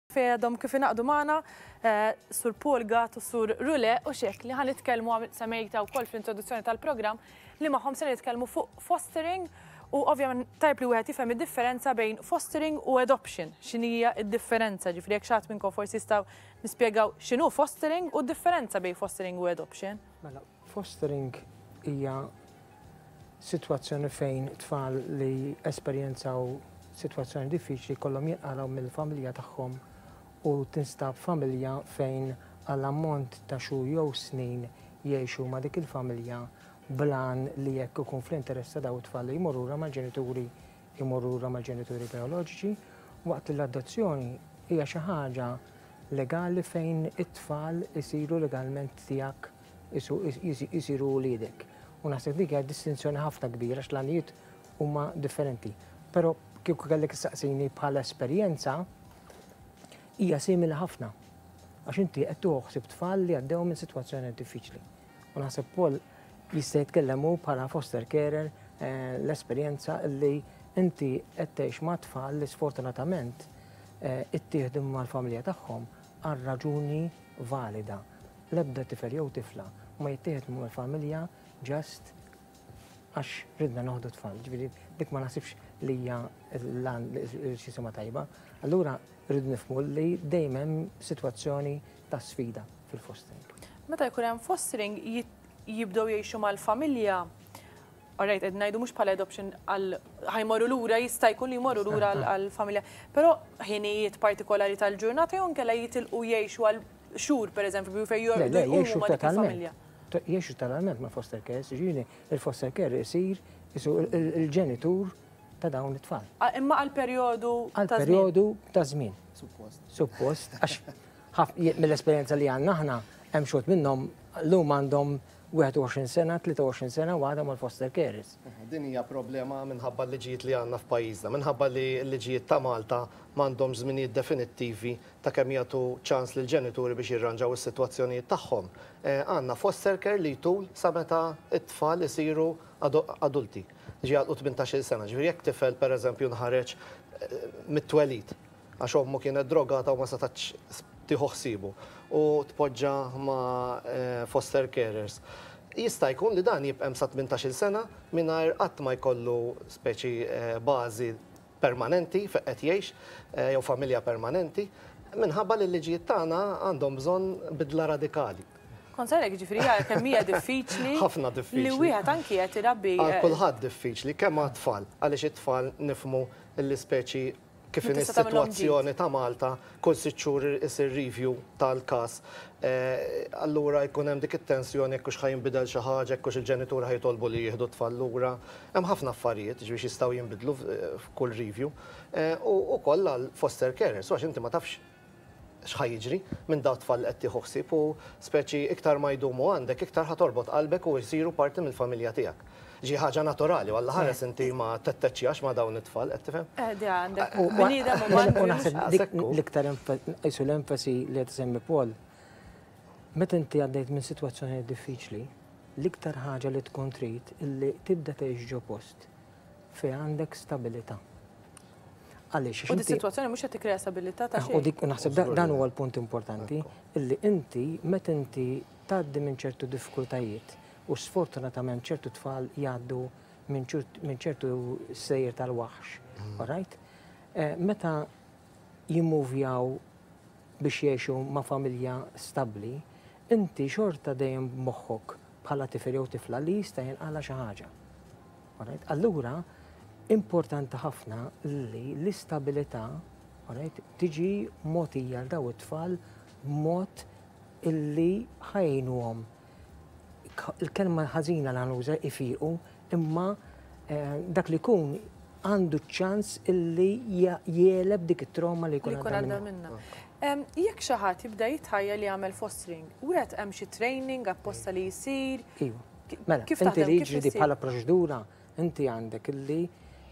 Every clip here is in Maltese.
Fejn għadhom kif ingħaqdu magħna Sur Paul Gatt u Sur Rule u xek li ħa nitkellmu semmejta wkoll fl-introduzzjoni tal-programm li magħhom se nitkellmu fuq fostering u ovvjament tajb li wieħed jifhem id-differenza bejn fostering u adoption. X'inhija d-differenza? Ġifieri jekk xi ħadd minnkom forsi jistgħu nispjegaw x'inhu fostering u d-differenza bejn fostering u adoption. Mela, fostering hija sitwazzjoni fejn tfal li esperjenzaw sitwazzjoni diffiċli jkollhom jinqalgħu mill-familja tagħhom u tinstab familja fejn għal ammont ta' xhur jew snin jgħixu ma' dik il-familja bl-għan li jekk ikun fl-interess ta' dawn it-tfal li jmorru lura mal-ġenituri jmorru lura mal-ġenituri bijoloġiċi, waqt li l-adozzjoni hija xi ħaġa legali fejn it-tfal isiru legalment tiegħek jisiru wliedek. U naħseb dik hija distinzjoni ħafna kbira għax l-għanijiet huma differenti. Però kieku kellek issaqsini bħala esperjenza hija simili ħafna. Għax inti qed tieħu ħsieb tfal li għaddew minn sitwazzjoni diffiċli. U naħseb Paul jista' jitkellem hu bħala foster carer l-esperjenza li inti qed tgħix ma' tfal li sfortunatament ittieħdu mal-familja tagħhom għal raġuni valida. L-ebda tifel jew tifla ma jittieħed mal-familja just għax ridna noħdu tfal. Ġifieri dik ma naħsibx li hija l-xisima tajba. Allura rridu nifhmu li dejjem hemm sitwazzjoni ta' sfida fil-fostering. Meta jkun hemm fostering jibdew jgħixu mal-familja. Alright, qed ngħidu mhux bħala adoption għal ħa jmorru lura, jista' jkun li jmorru lura għall-familja. Però ħinijiet partikolari tal-ġurnata jew inkella jitilqu jgħixu għal xhur pereżempju fejn jorqdu jqumu ma' dik il-familja. Jgħixu totalment ma' foster care, jiġifieri il-foster care isir il-ġenitur ta' dawn it-tfal. Imma għal perjodu ta' żmien. Għal perjodu ta' żmien. Suppost. Suppost, għax mill-esperjenza li għandna aħna hemm xogħol minnhom llum għandhom 21 sena, 23 sena u għadhom mal-foster carers. Din hija problema minħabba l-liġijiet li għandna f'pajjiżna, minħabba li l-liġijiet ta' Malta m'għandhomx żminijiet definittivi ta' kemm jagħtu ċans lill-ġenituri biex jirranġaw is-sitwazzjonijiet tagħhom. Għandna foster care li jtul sa meta t-tfal isiru adulti, ġi jagħlqu 18-il sena. Ġifieri jekk tifel pereżempju nħareġ mit-twelid għax ommu kienet drogata u ma setgħetx tieħu ħsiebu u tpoġġa ma' foster carers. Jista' jkun li dan jibqa' hemm sa 18-il sena mingħajr qatt ma jkollu speċi bażi permanenti fejn qed jgħix jew familja permanenti minħabba li l-liġijiet tagħna għandhom bżonn bidla radikali. Kont se ngħidlek, jiġifieri hija kemm hija diffiċli. Ħafna diffiċli. Li wieħed anki qed irabbi. Għal kulħadd diffiċli, kemm għat-tfal, għaliex it-tfal nifhmu li speċi Kif inhi s-sitwazzjoni ta' Malta, kull sitt xhur isir review tal-każ. Allura jkun hemm dik it-tensjoni jekk hux ħa jinbidel xi ħaġa, jekk hux il-ġenituri ħa jitolbu li jieħdu t-tfal lura. Hemm ħafna affarijiet jiġifieri x'jistgħu jinbidlu f'kull review. U wkoll għall-foster carers, għax inti ma tafx x'ħa jiġri minn dawn it-tfal li qed tieħu ħsieb u speċi iktar ma jdumu għandek iktar ħa torbot qalbek u jsiru parti mill-familja tiegħek. Ġi ħaġa naturali u Alla ħares inti ma tetteċċjax ma' dawn it-tfal, qed tifhem? Eh, di għandek bniedem uman. U naħseb dik l-iktar qisu l-enfasi li qed isemmi Paul, meta inti għaddejt minn sitwazzjoni diffiċli, l-iktar ħaġa li tkun trid illi tibda tgħix ġo post fejn għandek stabilità. Għaliex? U dis-sitwazzjoni mhux qed tikkrea stabilità ta' xejn. U dik naħseb dan huwa l-punt importanti illi inti meta inti tgħaddi minn ċertu diffikultajiet u sfortunatament ċertu tfal jgħaddu minn ċertu sejjer tal-waħx, all right? Meta jimmuvjaw biex jgħixu ma' familja stabbli, inti xorta dejjem b'moħħok bħala tifel jew tifla li jista' jinqala' xi ħaġa. Alright? Allura, importanti ħafna li l-istabilità alright, tiġi mogħtija għal daw it-tfal b'mod illi ħa jgħinuhom. Il-kelma ħażina li ħanuża ifiqu, imma eh, dak li jkun għandu ċans illi jegħleb dik it-trauma li jkun għadda minna. Jekk xi ħadd jibda jitħajja li jagħmel fostering, wieħed hemm xi training apposta li jsir? Iva. Mela, inti li jiġri di bħala proċedura, inti għandek illi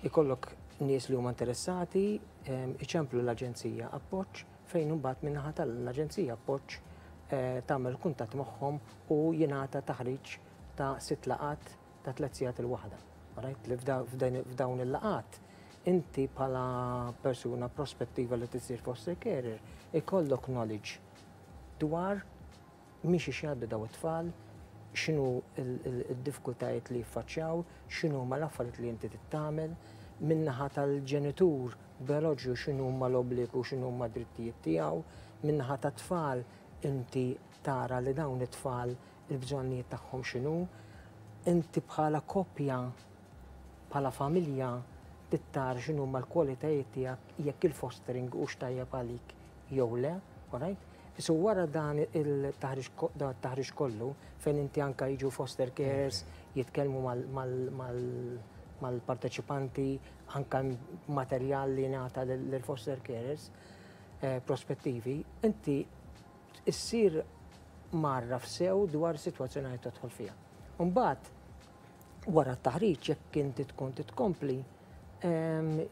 ikollok nies li huma interessati, iċemplu l-aġenzija appoġġ fejn imbagħad min-naħa tal-aġenzija appoġġ eh, tagħmel kuntatt magħhom u jingħata taħriġ ta' sitt laqat ta' tliet sigħat il-waħda. Right? Li f'dawn il-laqat Inti bħala persuna prospettiva li tisir foster carer, ikollok knowledge dwar minn xiex jgħaddu daw it-tfal, x'inhu il-diffikultajiet li jiffaċċjaw, x'inhu ma l-affarijiet li inti tagħmel, min-naħa tal-ġenitur bioloġiku x'inhu ma l-obbligu, x'inhu ma drittijiet tiegħu, min-naħa tat-tfal inti tara li dawn it-tfal il-bżonnijiet tagħhom x'inhu, inti bħala koppja, bħala familja trid tara x'inhu ma l-kwalitajiet tiegħek jekk il-fostering hux tajjeb għalik jew le, alright? So wara dan il-taħriġ kollu, fejn inti anka jiġu foster carers, jitkellmu mal-parteċipanti, anka materjal li ngħata lill-foster carers prospettivi, inti issir mgħarraf sew dwar situazzjoni li tadħol fiha. Mbagħad wara t-taħriġ jekk inti tkun titkompli,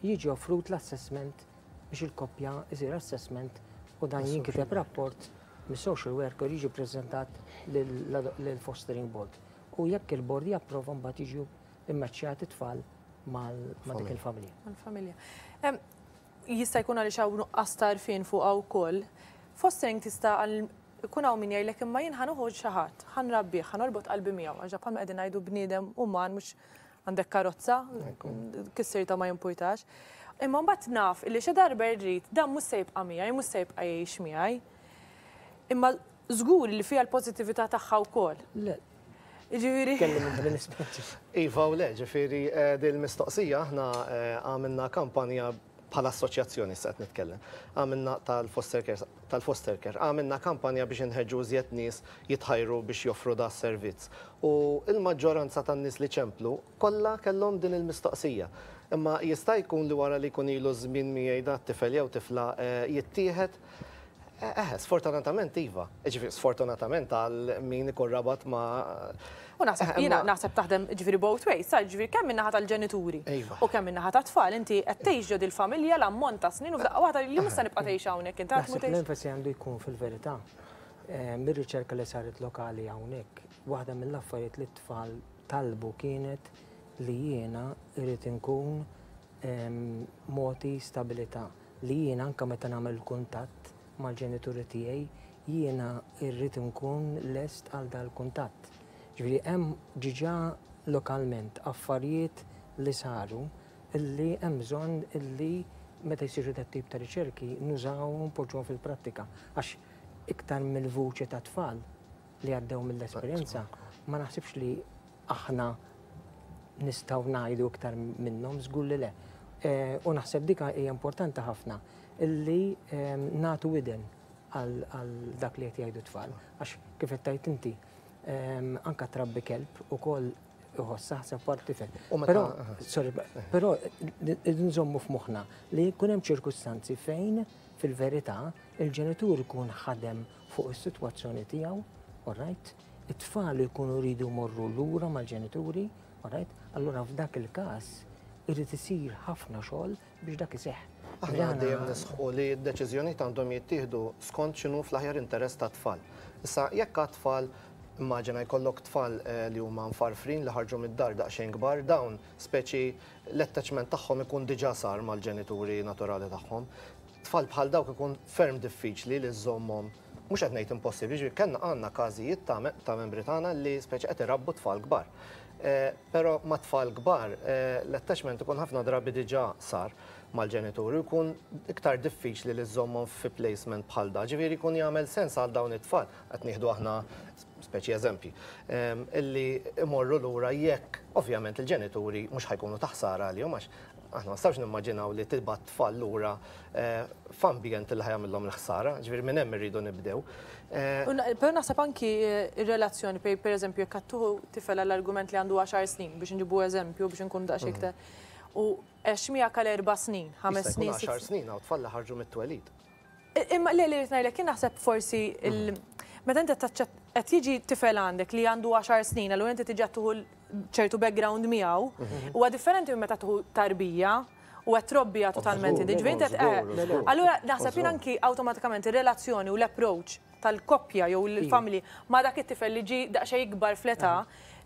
jiġi offrut l-assessment biex il-koppja isir assessment u dan jinkiteb rapport mis-social worker, jiġi preżentat lill-fostering board. U jekk il-board japprova, mbagħad jiġu immaċċjati tfal ma' dik il-familja. Mal-familja. Jista' jkun għaliex hawn nuqqas t'għarfien fuq wkoll. Fostering tista' għal ikun hawn min jgħidlek, imma jien ħa nieħu xi ħadd, ħa nrabbih, ħa norbot qalbi miegħu, għax bħalma qegħdin ngħidu bniedem uman, mhux għandek karozza, kissirta ma jimpurtax. Imma mbagħad naf li xi darba rrid dan mhux se jibqa' miegħi, mhux se jibqa' jgħix miegħi. Imma żgur li fiha l-pożittività tagħha wkoll. Le. Ġifieri. Kellim inti mill-esperti. Iva u le, ġifieri din il-mistoqsija aħna għamilna kampanja bħala assoċjazzjoni, se qed nitkellem. Għamilna tal-foster care, tal-foster care, għamilna kampanja biex inħeġġu iżjed nies jitħajru biex joffru da servizz. U il-maġġoranza tan-nies li ċemplu kollha kellhom din il-mistoqsija. Imma jista' jkun li wara li jkun ilu żmien miegħi da tifel jew tifla jittieħed? Sfortunatament iva. Ġifieri sfortunatament għal min ikun rabat ma' U naħseb jiena naħseb taħdem ġifieri both ways, sa ġifieri kemm min-naħa tal-ġenituri u kemm min-naħa tat-tfal, inti qed tgħix ġo dil-familja l-ammont ta' snin u f'daqqa waħda li mhux se nibqa' tgħix hawnhekk inti Naħseb l-enfasi għandu jkun fil-verità mir-riċerka li saret lokali hawnhekk, waħda mill-affarijiet li t-tfal talbu kienet li jiena irrid inkun mogħti stabilità, li jiena anka meta nagħmel kuntatt mal-ġenituri tiegħi jiena irrid nkun lest għal dal-kuntatt. Ġifieri hemm diġà lokalment affarijiet li saru illi hemm bżonn illi meta jsiru dat tip ta' riċerki nużawhom u npoġġuhom fil-prattika, għax iktar mill-vuċi ta' tfal li għaddew mill-esperjenza ma naħsibx li aħna nistgħu ngħidu iktar minnhom, żgur li le. U naħseb dika hija importanti ħafna illi nagħtu widen għal dak li qed jgħidu tfal. Għax kif qed tgħid inti, anka trabbi kelb ukoll iħoss, aħseb wara tifel. Però, sorry, però nżommu f'moħħna li jkun hemm ċirkustanzi fejn fil-verità il-ġenitur ikun ħadem fuq is-sitwazzjoni tiegħu, all right? It-tfal jkunu jridu morru lura mal-ġenituri, all right? Allura f'dak il-każ irid isir ħafna xogħol biex dak iseħħ. Aħna dejjem nisħqu li d-deċiżjonijiet għandhom jittieħdu skont x'inhu fl-aħjar interess tat-tfal. Issa jekk għat-tfal, immaġina jkollok tfal li huma mfarfrin, li ħarġu mid-dar daqsxejn kbar, dawn speċi l-attachment tagħhom ikun diġà sar mal-ġenituri naturali tagħhom. Tfal bħal dawk ikun ferm diffiċli li żżommhom, mhux qed ngħid impossibbli, ġifieri kellna għandna każijiet ta' membri tagħna li speċi qed irabbu tfal kbar. Però ma' tfal kbar l-attachment ikun ħafna drabi diġà sar mal-ġenituri, jkun iktar diffiċli li żżommhom fi placement bħal da. Ġifieri jkun jagħmel sens għal dawn it-tfal, qed nieħdu aħna speċi eżempji, illi imorru lura jekk ovvjament il-ġenituri mhux ħa jkunu ta' ħsara għalihom, għax aħna ma nistgħux nimmaġinaw li tibgħat tfal lura f'ambjent li ħa jagħmilhom il-ħsara, ġifieri minn hemm irridu nibdew. Però naħseb anki ir-relazzjoni, per eżempju, jekk qed tieħu tifel għall-argument li għandu 10 snin, biex nġibu eżempju, biex nkun daqsxejn iktar, u għex miegħek għal 4 snin, 5 snin. 10 snin, hawn tfal li ħarġu mit-twelid. Imma le, li ngħidlek jien naħseb forsi meta inti qed jiġi tifel għandek li għandu 10 snin, allura inti tiġi tieħu ċertu background miegħu, huwa differenti minn meta tieħu tarbija u qed trobbija totalment. Allura naħseb jien anki awtomatikament ir-relazzjoni u l-approach tal-koppja jew l-family ma' dak it-tifel li ġi daqsxejn ikbar fl-età.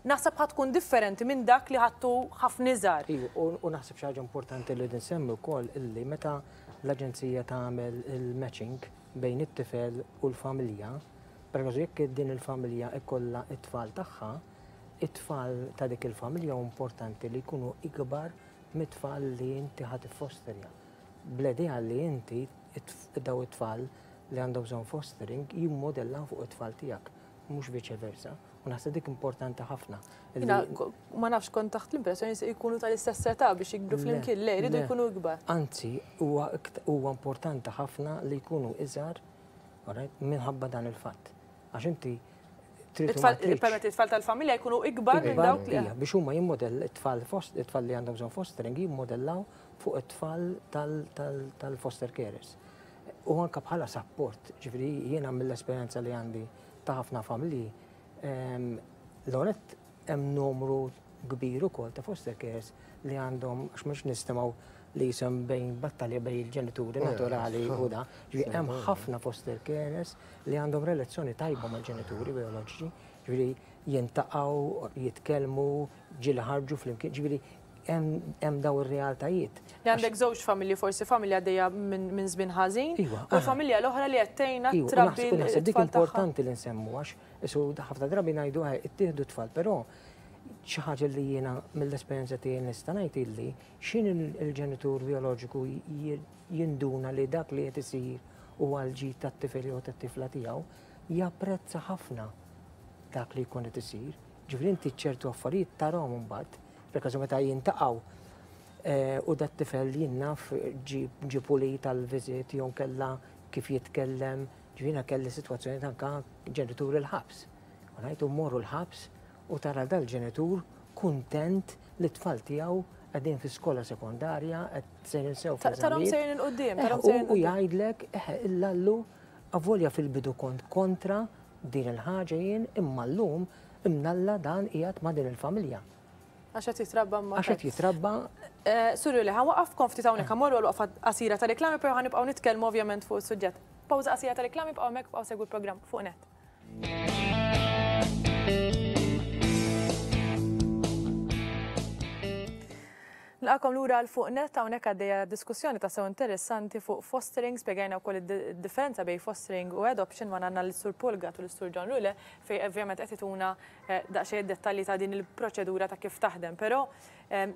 Naħseb ħa tkun differenti minn dak li ħadtu ħafna iżgħar. Iva, u naħseb xi ħaġa importanti li nsemmi wkoll illi meta l-aġenzija tagħmel il-matching bejn it-tifel u l-familja, pereżempju jekk din il-familja ikollha t-tfal tagħha, it-tfal ta' dik il-familja hu importanti li jkunu ikbar mit-tfal li inti ħa tiffosterja. Bl-idea li inti daw it-tfal li għandhom bżonn fostering jimmodellaw fuq it-tfal tiegħek, mhux viċe versa. U naħseb dik importanti ħafna. Jiena ma nafx kont taħt l-impressjoni se jkunu tal-istess età biex jikbru flimkien, le jridu jkunu ikbar. Anzi, huwa importanti ħafna li jkunu iżgħar minħabba dan il-fatt. Għax inti trid Permetti it-tfal tal-familja jkunu ikbar minn dawk li. Biex huma jimmodell it-tfal it-tfal li għandhom bżonn fostering jimmodellaw fuq it-tfal tal-foster carers. U anke bħala support, ġifieri jiena mill-esperjenza li għandi ta' ħafna familji, l-għonet hemm numru kbir ukoll ta' foster carers li għandhom, għax mhux nistimgħu li jisem bejn battalja bejn il-ġenituri naturali u da, ġifieri hemm ħafna foster carers li għandhom relazzjoni tajba mal-ġenituri bioloġiċi, ġifieri jintaqgħu, jitkellmu, ġieli ħarġu flimkien, ġifieri hemm daw ir-realtajiet. Li għandek żewġ familji, forsi familja għaddejja minn żmien ħażin, iva, u l-familja l-oħra li qed tgħinha iva, trabbi. Naħseb dik importanti li nsemmu għax isu ħafna drabi ngħidu eh, ittieħdu tfal, però xi ħaġa li jiena mill-esperjenza tiegħi nista' ngħid illi x'in il-ġenitur bioloġiku jinduna li dak li qed isir huwa l-ġid tat-tifel jew tat-tifla tiegħu, japprezza ħafna dak li jkun qed isir. Ġifieri inti ċertu affarijiet tarahom imbagħad Per każu meta jintaqgħu eh, u dat tifel jien naf ġie pulit għal visit jew kella kif jitkellem, ġifieri kelli sitwazzjoni anka ġenitur il-ħabs. U ngħid morru l-ħabs u tara dal-ġenitur kuntent li t-tfal tiegħu qegħdin fi skola sekondarja, qed sejrin sew Tarahom sejrin 'il quddiem, tarahom sejrin U jgħidlek, illallu, avolja fil-bidu kont kontra din il-ħaġa jien, imma llum imnalla dan qiegħed ma' din il-familja. Għax qed jitrabba ma' Għax qed jitrabba. Eh, Sur li ħa nwaqqafkom ftit hawnhekk ħa mmorru għal waqfa qasira ta' reklami, però ħa nibqgħu nitkellmu ovvjament fuq is-suġġett. Pawża qasira ta' reklami bqgħu hemmhekk bqgħu segwu l-programm fuq net. Nilqagħkom lura għal fuq net hawnhekk għaddejja diskussjoni ta' sew interessanti fuq fostering, spjegajna wkoll id-differenza bejn fostering u adoption ma għandna l-Sur Paul Gatt u l-Sur John Rule fejn ovvjament qed ituna eh, daqsxejn dettalji ta' din il-proċedura ta' kif taħdem. Però eh,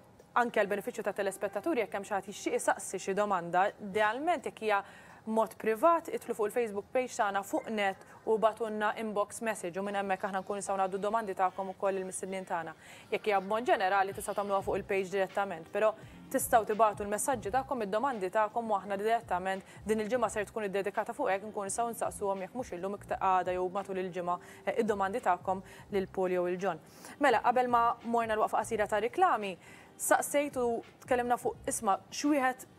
anke għall-benefiċċju ta' telespettaturi jekk hemm xi ħadd jixtieq isaqsi xi domanda, idealment jekk hija mod privat, idħlu fuq il-Facebook page tagħna fuq net u ibagħtulna inbox message u minn hemmhekk aħna nkunu nistgħu ngħaddu d-domandi tagħkom ukoll lill-mistednin tagħna. Jekk hija b'mod ġenerali tistgħu tagħmluha fuq il-page direttament, però tistgħu tibagħtu l-messaġġi tagħkom, id-domandi tagħkom u aħna direttament din il-ġimgħa ser tkun iddedikata fuq hekk nkunu nistgħu nsaqsuhom jekk mhux illum iktar għada jew matul il-ġimgħa eh, id-domandi tagħkom lil Paul jew il John. Mela, qabel ma morna l-waqfa qasira ta' riklami, saqsejt u tkellimna fuq isma' x'wieħed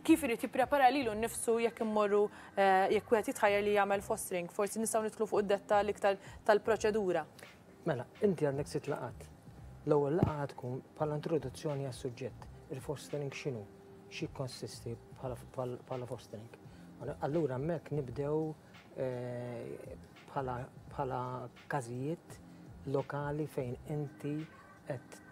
kif irid jipprepara lilu nnifsu jekk immorru eh, jekk wieħed jitħajjar li jagħmel fostering. Forsi nistgħu nidħlu fuq id-dettall iktar tal-proċedura. Mela, inti għandek sitt laqgħat. L-ewwel laqgħa tkun bħala introduzzjoni għas-suġġett. Il-fostering x'inhu? X'jikkonsisti bħala fostering? Allura hemmhekk nibdew eh, bħala każijiet lokali fejn inti qed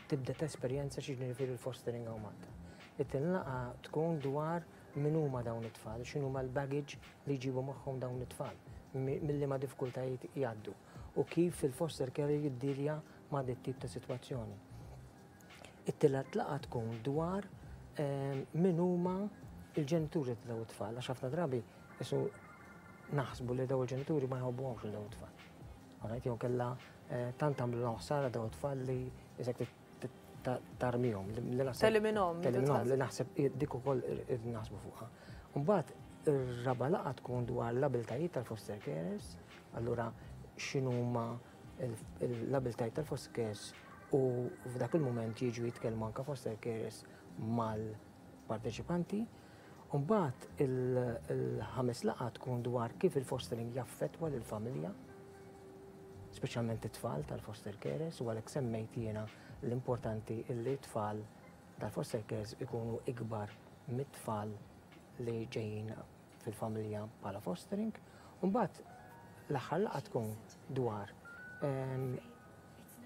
tibda tesperjenza xi ġifieri l-fostering hawn Malta. It-tieni laqgħa tkun dwar min huma dawn it-tfal, x'inhuma l-baggage li jġibu magħhom dawn it-tfal, mill-liema diffikultajiet jgħaddu u kif il-foster care jiddilja ma' dit tip ta' sitwazzjoni. It-tielet laqgħa tkun dwar ehm, min huma il-ġenituri ta' dawn it-tfal, għax ħafna drabi isu naħsbu li dawn il-ġenituri ma jħobbuhomx lil dawn it-tfal. Alright, jew kella eh, tant għamlu ħsara dawn it-tfal li isek tarmihom. Teliminhom. Teliminhom li naħseb dik ukoll irrid naħsbu fuqha. Mbagħad ir-raba' laqgħa tkun dwar l-abiltajiet tal-foster carers, allura x'inhuma l-abiltajiet tal-foster carers u f'dak il-mument jiġu jitkellmu anka foster carers mal-parteċipanti. Mbagħad il-ħames laqgħa tkun dwar kif il-fostering jaffettwa lill-familja, speċjalment it-tfal tal-foster carers, u għalhekk semmejt jiena l-importanti li t-tfal tal-foster carers ikunu ikbar mit-tfal li ġejjin fil-familja bħala fostering. Mbagħad l-aħħar laqgħa tkun dwar ehm,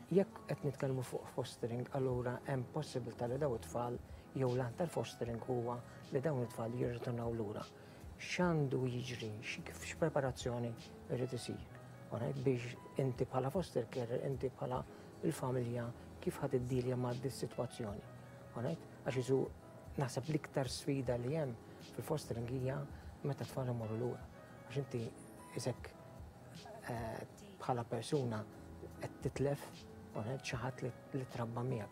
Jekk qed nitkellmu fuq fostering, allura hemm possibilità li dawn it-tfal jew l-għan tal-fostering huwa li dawn it-tfal jirritornaw lura. X'għandu jiġri, x'preparazzjoni jrid isir? Alright, biex inti bħala foster carer, inti bħala il-familja, kif ħa tiddilja ma' dis-sitwazzjoni. Alright? Għax isu naħseb l-iktar sfida li hemm fil-fostering hija meta tfal imorru lura. Għax inti isek bħala persuna qed titlef xi ħadd li trabba miegħek.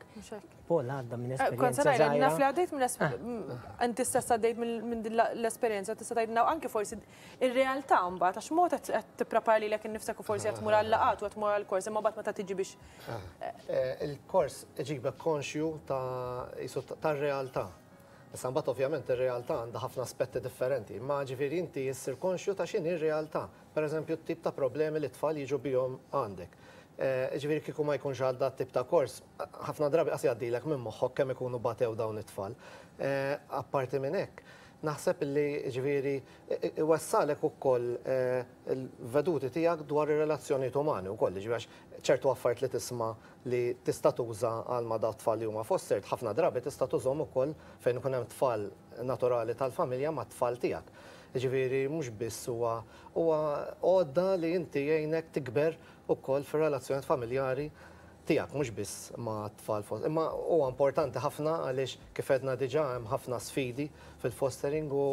Paul għadda minn esperjenza. Kont naf li għaddejt minn inti stess għaddejt minn din l-esperjenza tista' tgħidilna anke forsi ir-realtà mbagħad għax mod qed tipprepara lilek innifsek u forsi qed tmur għal-laqgħat u qed tmur għall-kors imma mbagħad meta tiġi biex. Il-kors iġibek konxju ta' tar-realtà. Issa mbagħad ovvjament ir-realtà għandha ħafna aspetti differenti, imma ġifieri inti issir konxju ta' x'inhi r-realtà. Pereżempju t-tip ta' problemi li t-tfal jiġu bihom għandek. Jiġifieri kieku ma jkunx għal dat-tip ta' kors, ħafna drabi qas jgħaddilek minn moħħok kemm ikunu batew dawn it-tfal. Apparti minn hekk, naħseb li jiġifieri iwessalek ukoll il-veduti tiegħek dwar ir-relazzjonijiet umani wkoll, jiġifieri għax ċertu affarijiet li tisma' li tista' tuża għal ma' dawn it-tfal li huma fostered, ħafna drabi tista' tużhom ukoll fejn ikun hemm tfal naturali tal-familja mat-tfal tiegħek. Jiġifieri mhux biss huwa huwa għodda li inti jgħinek tikber ukoll fir-relazzjonijiet familjari tiegħek mhux biss ma' tfal imma huwa importanti ħafna għaliex kif għedna diġà hemm ħafna sfidi fil-fostering u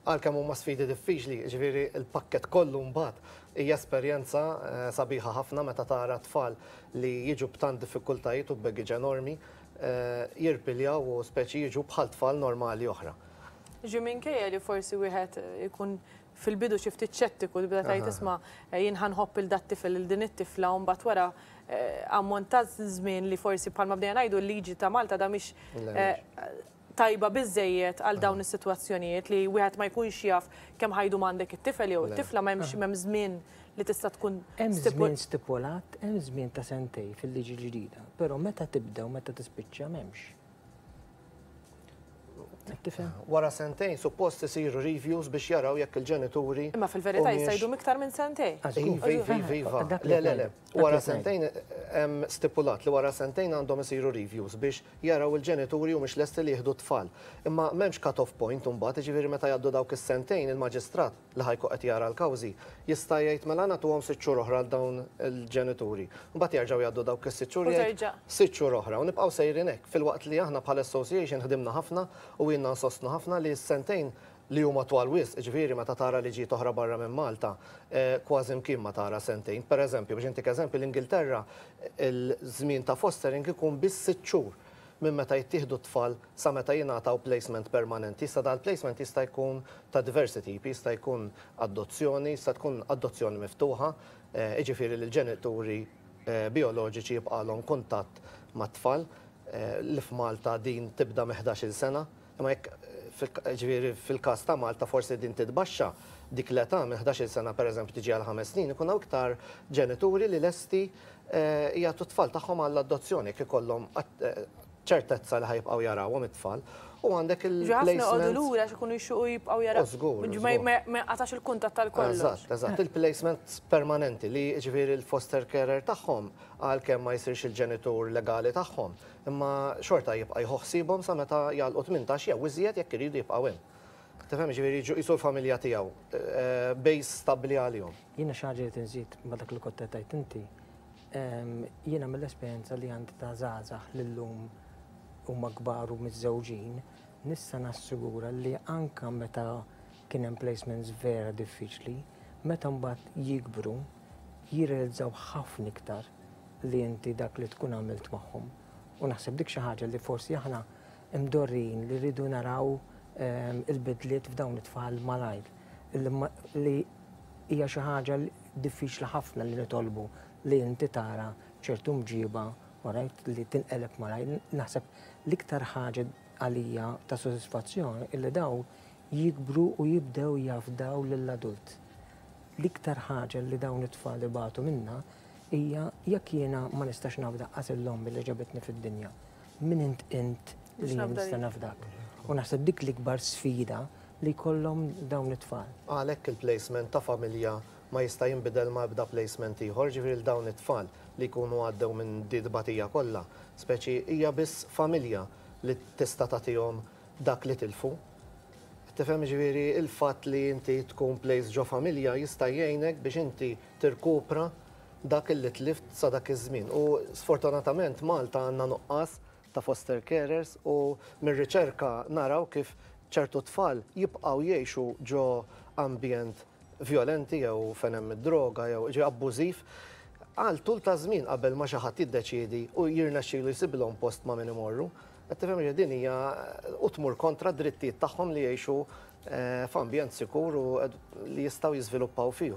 għalkemm huma sfidi diffiċli, jiġifieri l-pakkett kollu mbagħad hija esperjenza sabiħa ħafna meta tara tfal li jiġu b'tant diffikultajiet u b'baggage enormi jirpiljaw u speċi jiġu bħal tfal normali oħra. Ġi minkejja li forsi wieħed ikun fil-bidu xi ftit xettiku tibda tgħid isma' jien ħa nħobb 'il dat-tifel 'il din it-tifla u mbagħad wara ammont ta' żmien li forsi bħalma bdejna ngħidu l-liġi ta' Malta da mhix tajba biżżejjed għal dawn is-sitwazzjonijiet li wieħed ma jkunx jaf kemm ħa jdum għandek it-tifel jew it-tifla ma hemmx m'hemm żmien li tista' tkun Hemm żmien stipulat, hemm żmien ta' sentejn fil-liġi l-ġdida, però meta tibda u meta tispiċċa m'hemmx. Tifhem? Wara sentejn suppost isiru reviews biex jaraw jekk il-ġenituri. Imma fil-verità jista' jdum iktar minn sentejn. Iva, iva, iva, iva. Le, le, le. Wara sentejn hemm stipulat li wara sentejn għandhom isiru reviews biex jaraw il-ġenituri humiex lesti li jieħdu t-tfal. Imma m'hemmx cut-off point imbagħad, jiġifieri meta jgħaddu dawk is-sentejn il-maġistrat li ħa jkun qed jara l-kawżi, jista' jgħid mela nagħtuhom sitt xhur oħra għal dawn il-ġenituri. Mbagħad jerġgħu jgħaddu dawk is-sitt xhur jgħid sitt xhur oħra u nibqgħu sejrin hekk. Filwaqt li aħna bħala association ħdimna ħafna u ilna nsostnu ħafna li s-sentejn li huma twal wisq, jiġifieri meta tara liġijiet oħra barra minn Malta, kważi mkien ma tara sentejn. Pereżempju, biex intik eżempju, l-Ingilterra l-żmien ta' fostering ikun biss sitt xhur. minn meta jittieħdu t-tfal sa meta jingħataw placement permanenti. Issa dal-placement jista' jkun ta' diversi tipi, jista' jkun adozzjoni, jista' tkun adozzjoni miftuħa, jiġifieri li l-ġenituri bijoloġiċi jibqgħalhom kuntatt mat-tfal, li f'Malta din tibda minn 11-il sena, imma jekk jiġifieri fil-każ ta' Malta forsi din titbaxxa dik l-età minn 11-il sena pereżempju tiġi għal ħames snin, ikun hawn iktar ġenituri li lesti jagħtu t-tfal tagħhom għall-adozzjoni jekk ikollhom ċertezza li ħa jibqgħu jarawhom it-tfal. U għandek il-placement. Ħafna joqogħdu lura għax ikunu jixtiequ jibqgħu jaraw. Żgur. Ma jinqatax il-kuntatt tal kollox. Eżatt, eżatt. Il-placement permanenti li jiġifieri l-foster carer tagħhom għalkemm ma jsirx il-ġenitur legali tagħhom, imma xorta jibqa' jieħu ħsiebhom sa meta jagħlqu 18 jew iżjed jekk iridu jibqgħu hemm. Tifhem, jiġifieri jiġu qisu l-familja tiegħu, base stabbli għalihom. Jiena xi ħaġa li nżid ma' dak li kont qed tgħid inti, jiena mill-esperjenza li għandi ta' żgħażagħ li llum huma kbar u miżżewġin, nista' nassigura li anke meta kien hemm placements vera diffiċli, meta mbagħad jikbru, jirrealizzaw ħafna iktar li inti dak li tkun għamilt magħhom. U naħseb dik xi ħaġa li forsi aħna mdorrijin li rridu naraw il-bidliet f'dawn it-tfal malajr, li hija xi ħaġa diffiċli ħafna li nitolbu li inti tara ċertu mġiba, alright, li tinqeleb malajr. Naħseb l-iktar ħaġa għalija ta' sodisfazzjon illi dawn jikbru u jibdew jafdaw lill-adult. L-iktar ħaġa li dawn it-tfal ibatu minnha hija jekk jiena ma nistax nafda qas 'il ommi li ġabitni fid-dinja. Min int int li jien nista' nafdak? U naħseb dik l-ikbar sfida li jkollhom dawn it-tfal. Għalhekk il-placement ta' familja ma jista' jinbidel ma' ebda placement ieħor, ġifieri l dawn it-tfal li jkunu għaddew minn di tbatija kollha, speċi hija biss familja li tista' tagħtihom dak li tilfu. Tifhem, ġifieri il-fatt li inti tkun placed ġo familja jista' jgħinek biex inti tirkupra dak li tlift sa dak iż-żmien. U sfortunatament Malta għandna nuqqas ta' foster carers u mir-riċerka naraw kif ċertu tfal jibqgħu jgħixu ġo ambjent violenti jew fejn hemm id-droga jew ġi abbużiv għal tul ta' żmien qabel ma xi ħadd jiddeċiedi u jirnexxilu jsibilhom post ma' min imorru. Qed tifhem li din hija u tmur kontra drittijiet tagħhom li jgħixu f'ambjent sikur u li jistgħu jiżviluppaw fih.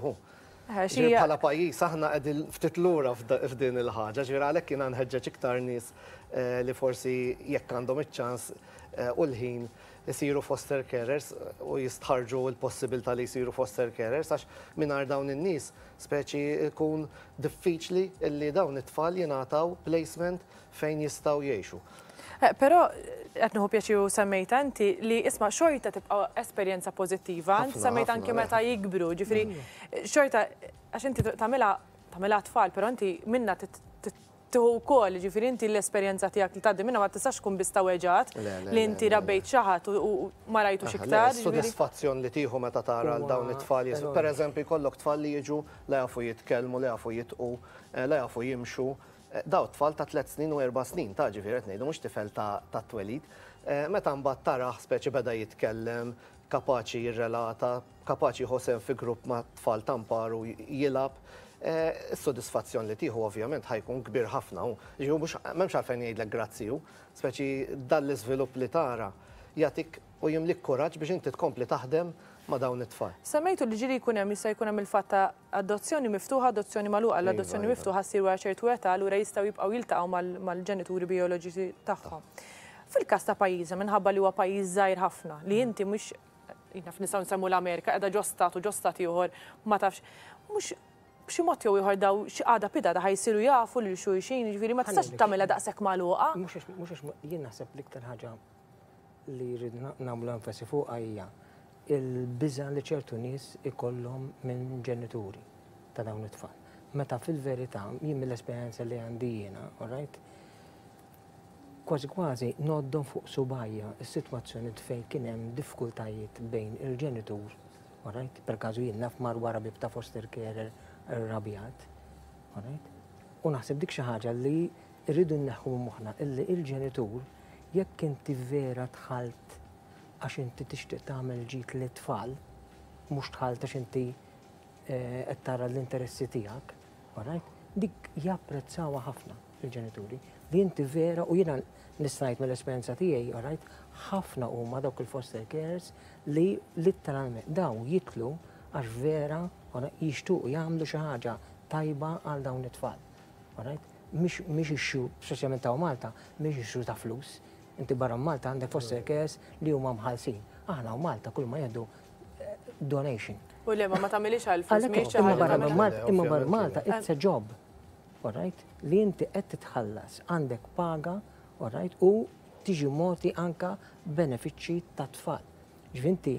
Bħala pajjiż aħna qegħdin ftit lura f'din il-ħaġa, ġifieri għalhekk jiena nħeġġeġ iktar nies li forsi jekk għandhom iċ-ċans u l-ħin isiru foster carers u jistħarġu l-possibilità li jsiru foster carers, għax mingħajr dawn in-nies speċi jkun diffiċli li dawn it-tfal jingħataw placement fejn jistgħu jgħixu. Però qed nieħu pjaċir semmejta inti li isma' xorta tibqa' esperjenza pożittiva, semmejta anke meta jikbru, ġifieri xorta għax inti tagħmilha tagħmilha tfal, però inti minna tieħu wkoll, ġifieri inti l-esperjenza tiegħek li tgħaddi minna ma tistax tkun biss ta' weġgħat li inti rabbejt xi ħadd u ma rajtux iktar. Sodisfazzjon li tieħu meta tara l dawn it-tfal. Per eżempju, jkollok tfal li jiġu la jafu jitkellmu, la jafu jitqu, la jafu jimxu. Daw tfal ta' 3 snin u 4 snin, ta' ġifieri qed ngħidu mhux tifel ta' twelid. Meta mbagħad tarah speċi beda jitkellem, kapaċi jirrelata, kapaċi jħossem fi grupp ma' tfal tamparu jilgħab, is-sodisfazzjon li tieħu ovvjament ħa jkun kbir ħafna u ġifieri mhux m'hemmx għalfejn jgħidlek grazzi hu, speċi dan l-iżvilupp li tara jagħtik u jimlik kuraġġ biex inti tkompli taħdem ma' dawn it-tfal. Semmejtu li ġieli jkun hemm jista' jkun hemm il-fatt ta' adozzjoni miftuħa, adozzjoni magħluqa. L-adozzjoni miftuħa ssir wara ċertu età, allura jistgħu jibqgħu jiltaqgħu mal-ġenituri bijoloġiċi tagħhom. Fil-każ ta' pajjiżna, minħabba li huwa pajjiż żgħir ħafna, li inti mhux naf nistgħu nsemmu l-Amerika, qiegħda ġo stat u ġo stat ieħor ma tafx, mhux b'xi mod jew ieħor daw xi għada pitgħada ħa jsiru jafu lil xulxin, jiġifieri ma tistax tagħmilha daqshekk magħluqa. Mhux għax jien naħseb l-iktar ħaġa li jrid nagħmlu enfasi fuqha hija il-biża' li ċertu nies ikollhom minn ġenituri ta' dawn it-tfal. Meta fil-verità, jien mill-esperjenza li għandi jiena, all right, kważi kważi ngħoddhom fuq subgħajja is-sitwazzjoni fejn kien hemm diffikultajiet bejn il-ġenitur, all right, per każu jien naf mar wara bieb ta' foster carer irrabjat, all right, u naħseb dik xi ħaġa li rridu nneħħu minn moħħna illi il-ġenitur jekk inti vera dħalt għax inti tixtieq tagħmel ġid lit-tfal, mhux dħalt għax inti qed tara l-interessi tiegħek, all right? Dik japprezzawha ħafna il-ġenituri. Li inti vera, u jiena nista' ngħid mill-esperjenza tiegħi, all right, ħafna huma dawk il-foster carers li literalment daw jidħlu għax vera jixtuqu jagħmlu xi ħaġa tajba għal dawn it-tfal. All right? Mhix issue, speċjalment ta' Malta, mhix issue ta' flus. Inti barra Malta għandek foster carers li huma mħallsin. Aħna u Malta kull ma jgħidu donation. U le, ma tagħmilix għal flus, mhix xi Imma ħaġa barra tagħmilha. Malta, imma barra Malta, it's a job. All right? Li inti qed titħallas, għandek paga, all right? U tiġi mogħti anka benefiċċji ta' tfal. Ġifieri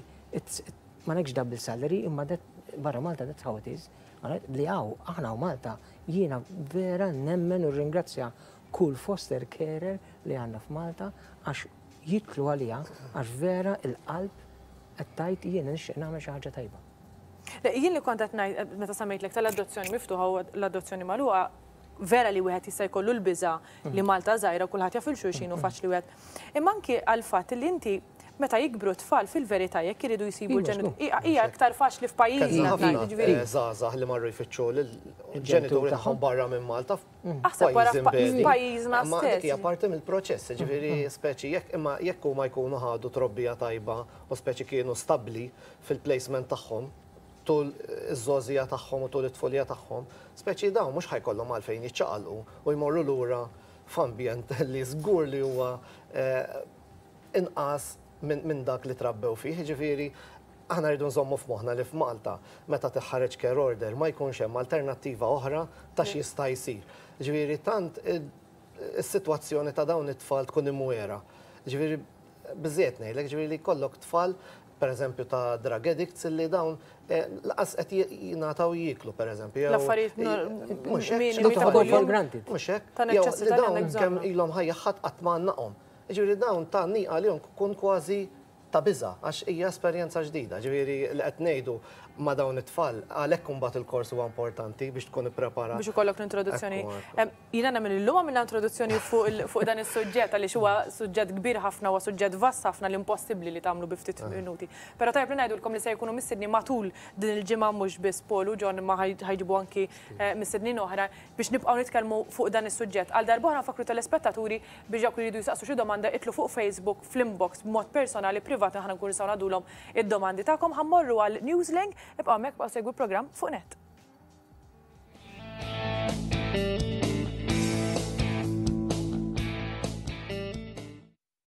ma nekx double salary, imma that, barra Malta that's how it is. All right? Li għaw, aħna u Malta, jiena vera nemmen u ringrazzja kull foster carer li għandna f'Malta għax jidħlu għalija, għax vera il-qalb qed tgħid jiena nixtieq nagħmel xi ħaġa tajba. Le, jien li kont qed ngħid meta semmejtlek tal-adozzjoni miftuħa u l-adozzjoni magħluqa, vera li wieħed jista' jkollu l-biża' li Malta żgħira u kulħadd jaf il-xulxin u faċli wieħed. Imma anki għall-fatt li inti meta jikbru tfal fil-verità jekk iridu jsibu l-ġenituri, hija aktar faċli f'pajjiżna. Ħafna żgħażagħ li marru jfittxu lill-ġenituri tagħhom barra minn Malta. Aħseb wara f'pajjiżna Ma dik stess. hija parti mill-proċess, ġifieri speċi jekk imma jekk huma jkunu ħadu trobbija tajba u speċi kienu stabbli fil-placement tagħhom tul iż-żgħożija tagħhom u tul it-tfulija tagħhom, speċi dawn mhux ħa jkollhom għalfejn jiċċaqalqu u jmorru lura f'ambjent li żgur li huwa inqas minn dak li trabbew fih, ġifieri aħna rridu nżommu f'moħħna li f'Malta meta tiħħareġ care order ma jkunx hemm alternattiva oħra ta' x'jista' jsir. Ġifieri tant is-sitwazzjoni ta' dawn it-tfal tkun imwiegħra. Ġifieri biżejjed ngħidlek, ġifieri li jkollok tfal. pereżempju ta' drug addicts illi dawn lanqas qed jingħataw jieklu pereżempju. L-affarijiet minimi ta' kuljum. Mhux hekk. Ta' neċessità li għandek bżonn. Kemm ilhom ħajja ħadd qatt ma għannaqhom. Jiġifieri dawn tgħanniq għalihom tkun kważi ta' biża' għax hija esperjenza ġdida. Ġifieri li qed ngħidu ma' dawn it-tfal, għalhekk imbagħad il-kors huwa importanti biex tkun ippreparat. Biex ikollok l-introduzzjoni. Jiena nemmen li llum għamilna introduzzjoni fuq dan is-suġġett għaliex huwa suġġett kbir ħafna, huwa suġġett vast ħafna li impossibbli li tagħmlu bi ftit minuti. Però tajjeb li ngħidulkom li se jkunu mistednin matul din il-ġimgħa mhux biss Paul u John imma ħa jġibu anki mistednin oħra biex nibqgħu nitkellmu fuq dan is-suġġett. Għal darb'oħra nfakkru telespettaturi biex dawk li jridu jsaqsu xi domanda idħlu fuq Facebook fl-inbox b'mod personali privat aħna nkunu nistgħu ngħaddulhom id-domandi tagħkom. Ħa mmorru għal Newslink, ibqgħu hemmhekk ibqgħu segwu l-programm fuq Net.